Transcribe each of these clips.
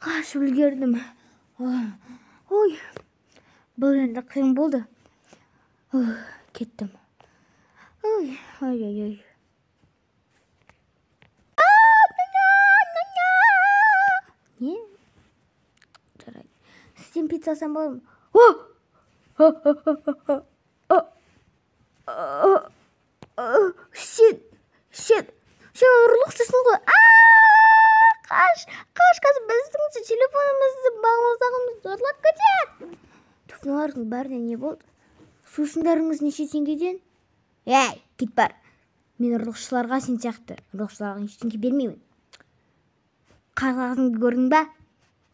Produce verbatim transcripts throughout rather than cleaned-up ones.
Қашып үлгердім. Ой, бұл енді қиын болды. Кеттім. Ой, ой, ой, ой. Не? Жарайды. Сізден пицца алсам болады ма? Shit, shit. Сен ұрлықшысың ғой. Қаш, қаш, қазір біздің телефонымызды бағымыздағымызды ұрлап кетеді. Туфларыңыздың бәріне не болды? Сусындарыңыз неше теңгеден? Ей, кет бар. Мен ұрлықшыларға сен сияқты. Ұрлықшыларға ештеңе бермеймін. Қағазыңды көрдің бе?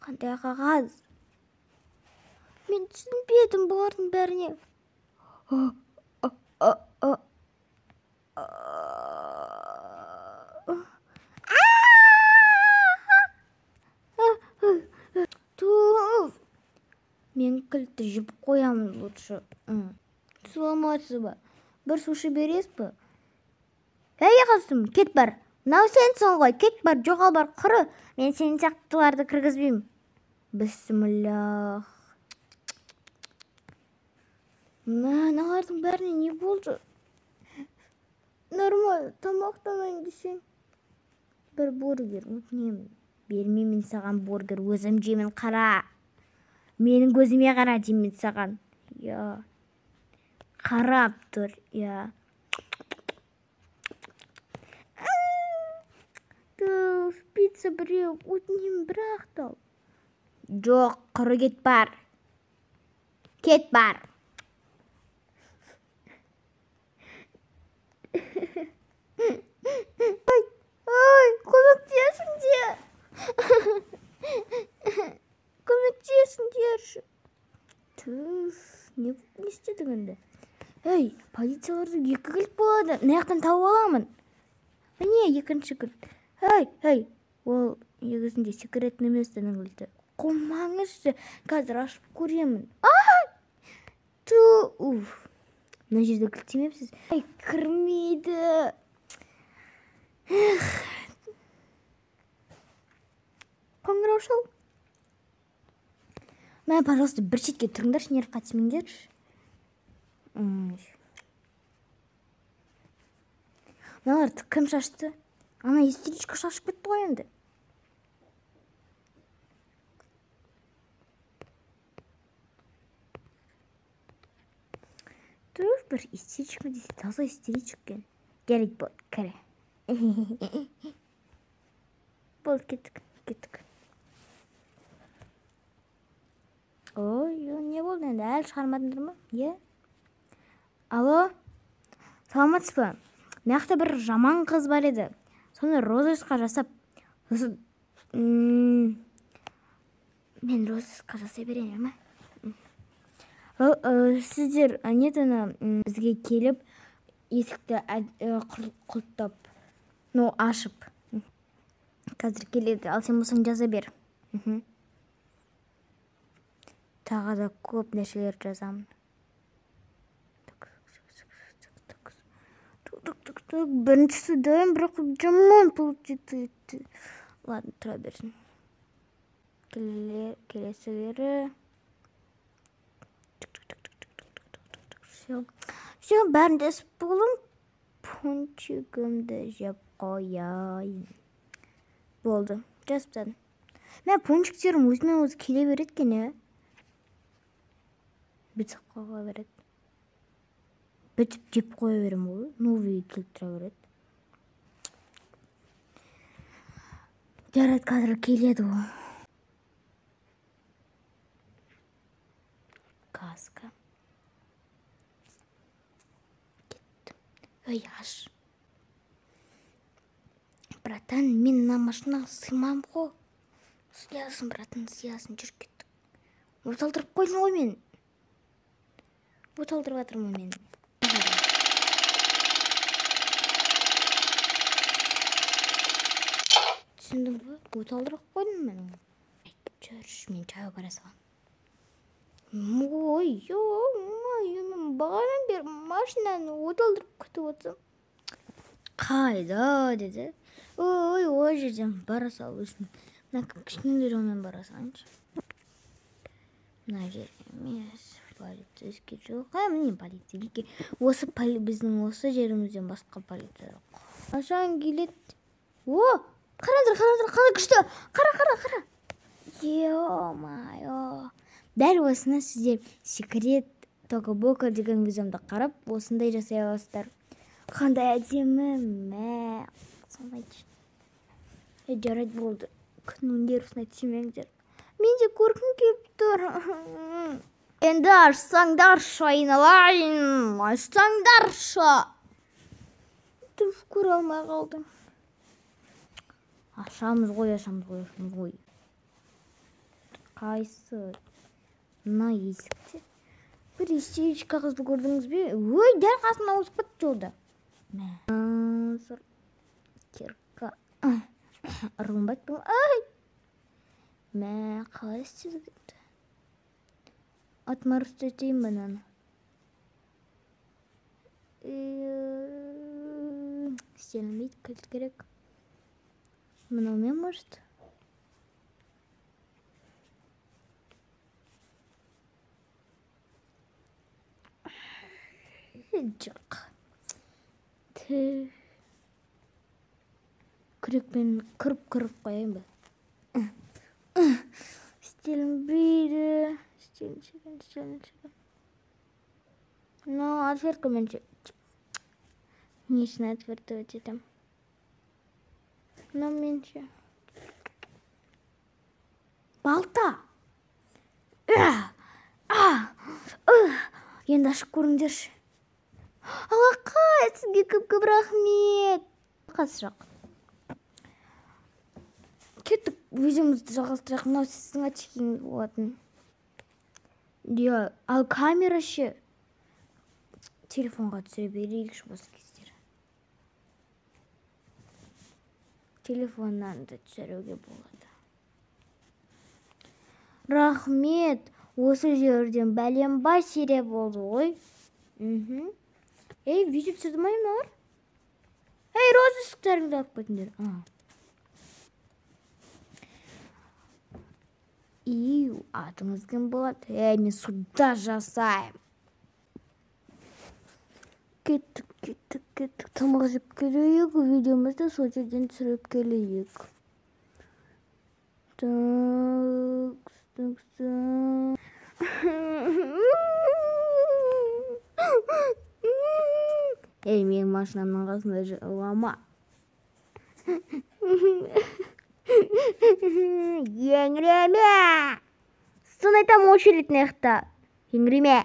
Қандай қағаз? Мен түсінбедім бұлардың бәріне. Туф. Мен кілтті жіп қоямын лучше. Саламатсыз ба? Бір сушы бересіз бе? Әй қасым, кет бар. Мынау сенсің ғой, кет бар, жоғал бар, құры. Мен сен сияқтыларды кіргізбеймін. Бісміллах. Мыналардың бәріне не болды? Нормально, тамақтанайын десең. Бір бургер өтінемін. Бермеймін саған бургер, өзім жеймін, қара. Менің көзіме қара деймін саған. Я. Қарап тұр, я. Туф, пицца біреу, өтінемін, бірақ тал. Жоқ, құры кет бар. Кет бар. Ой, ой, көмектесіңдер. Көмектесіңдерші. Түф, не істедің енді? Ей, полицияларды екі кілт болады. Наяқтан тауып аламын. Міне, екінші кілт. Ей, ей, ол егізінде секретный местінің кілті. Қомаңызшы, қазір ашып көремін. Ай! Ту, уф. Мына жерде кілттемепсіз. Ай, кірмейді. Эх. Қоңырау шал. Мен, пожалуйста, бір шетке тұрыңдаршы, нерв қатысмеңдерші. Мыналарды кім шашты? Ана истеричка шашып кетті ғой енді. Туф, бір истеричка десе, таза истеричка. Керек болды, кәрі. Болды, кеттік, кеттік. Ой, не болды енді, әлі шығармадыңдар ма? Е? Алло, саламатсыз ба? Мынақты бір жаман қыз бар еді. Соны розысқа жасап, сосын мен розысқа жасай берейін ма? Сіздер нетіні бізге келіп, есікті құлттап, ну, ашып. Қазір келеді, ал сен болсаң жаза бер. Тағы да көп нәрселер жазамын. Біріншісі дайын, бірақ жаман болып жетті. Ладно, тұра берсін. Келесілері. Все, бәрін десіп болым. Пончигімді жеп қояйын. Болды, жазып тадым. Мен пончиктерім өзімен өзі келе береді кен, е? Бітіп қоя береді. Бітіп жеп қоя берем ғой, новый келіп тұра береді. Жарайды, қазір келеді ғой. Каска. Кеттім. Ой, аш. Братан, мен на машинаға сыймам ғой. Сиясын, братан, сиясын, жүр кеттік. Оталдырып қойдың ғой мен. Оталдырып атырмын мен. Түсіндің бі? Оталдырып қойдың мен. Жүрш, мен чайға бара салам. Ой, мен бағадан бер машинаны оталдырып күтіп отсам. Қайда, деді. Ой, ой, жерден бара сал үшін. мына кішкене жолмен бара салайыншы. Мына жер емес, полицейский жоқ. А, міне полицейский. Осы біздің осы жерімізден басқа полиция жоқ. Қашан келеді? О, қараңдар, қараңдар, қандай күшті. Қара, қара, қара. Е-майо. Дәл осыны сіздер секрет Тока-Бока деген видеомды қарап, осындай жасай аласыздар. Қандай әдемі, мә. Салмайыншы. Е, жарайды болды. Күннің нервісіне тимеңдер. Мен де көргім келіп тұр. Енді ашсаңдаршы, айналайын. Ашсаңдаршы. Түф, көре алмай қалдым. Ашамыз ғой, ашамыз ғой, ашамыз ғой. Қайсы? Мына есікте. Бір естегіш қағазды көрдіңіз бе? Ой, дәл қасына ауысып кетті жолда. Мә. Кирка. Ырғынбайды бұл. Ай! Мә, қалай істеді кетті? Атмар үстетейін ба наны? Істелінбейді, кілт керек. Мынаумен может? Жоқ. Күрекпен кіріп-кіріп қойайын ба? Істелінбейді. Істеліншеген, істеліншеген. Но отверткамен же. Несін отвертывать етем. Но мен же. Балта! Енді ашып көріңдерші. Алақай, сізге көп-көп рахмет. Қасы жоқ. Кеттік, видеомызды жалғастырақ. Мынау сіздің очкиіңіз болатын. Ал камера ше телефонға түсіре берейікші осы кездері. Телефоннан да түсіруге болады. Рахмет, осы жерден бәленбай серия болды ғой. Ей, видео түсірді ма емнағыр? Ей, розы үстіктеріңді алып көтіндер. Иу, атыңыз кім болады? Ей, мен суда жасайым. Кеттік, кеттік, кеттік. Тамақ жеп келейік. Видеомызды сол жерден түсіріп келейік. Так, так, так. Ей, менің машинамның қасында жылама. Еңіреме! Сын айтам очередь нехта. Еңіреме!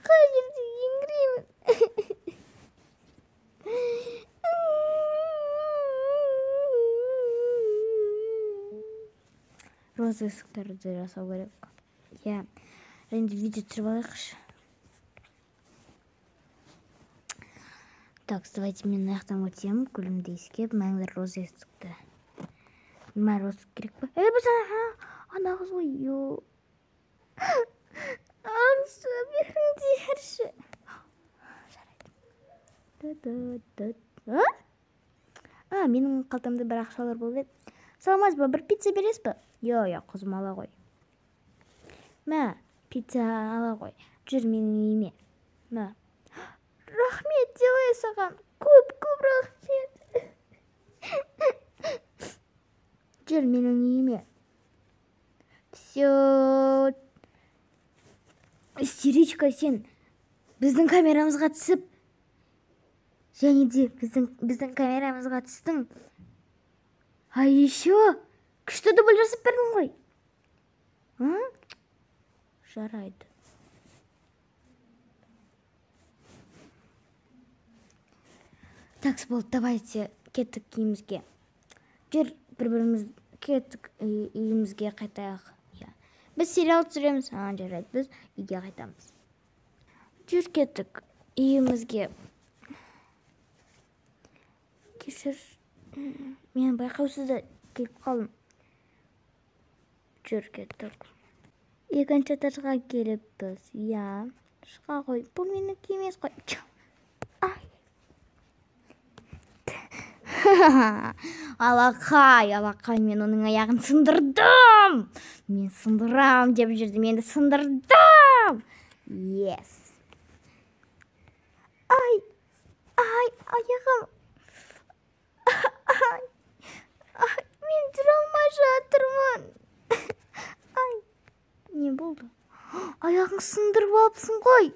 Қай жерде еңіремін? Розы үсіктерді жасау керек. Я енді видео түсіріп алайықшы. Так, давайте мен аяқтан өтем, күлімді ескеп, мәңгілер розы үсікті. Мәр розы керек па? Эй, біз ана қыз ғой, йо. Ақша беріңдерші. Жарайды. А, менің қалтамда бір ақшалар болып еді. Салмаз ба, бір пицца берес ба? Йо, я қызым ала ғой. Мә, пицца ала ғой. Жүр менің үйіме. Мә. Рахмет, делай саған. Көп-көп рахмет. Жүр менің үйіме. Всё. Истеричка, сен біздің камерамызға түсіп, және де біздің камерамызға түстің. А еще күшті дубль жасап бердің ғой. Жарайды. Так, болды, давайте кеттік үйімізге. Жүр, бір-біріміз кеттік үйімізге қайтайық. Біз сериал түсіреміз, жарайды, біз үйге қайтамыз. Жүр, кеттік үйімізге. Кешір, мен байқаусызда келіп қалдым. Жүр, кеттік. Екінші этажға келіппіз, я. Шыға қой, бұл менікі емес қой. Ай. Алақай, алақай, мен оның аяғын сындырдым. Мен сындырам деп жүрдім, енді сындырдым. Yes. Ай, ай, аяғым. Ай, ай, мен жүре алмай жатырмын. Ай, не болды? Аяғың сындырып алыпсың ғой.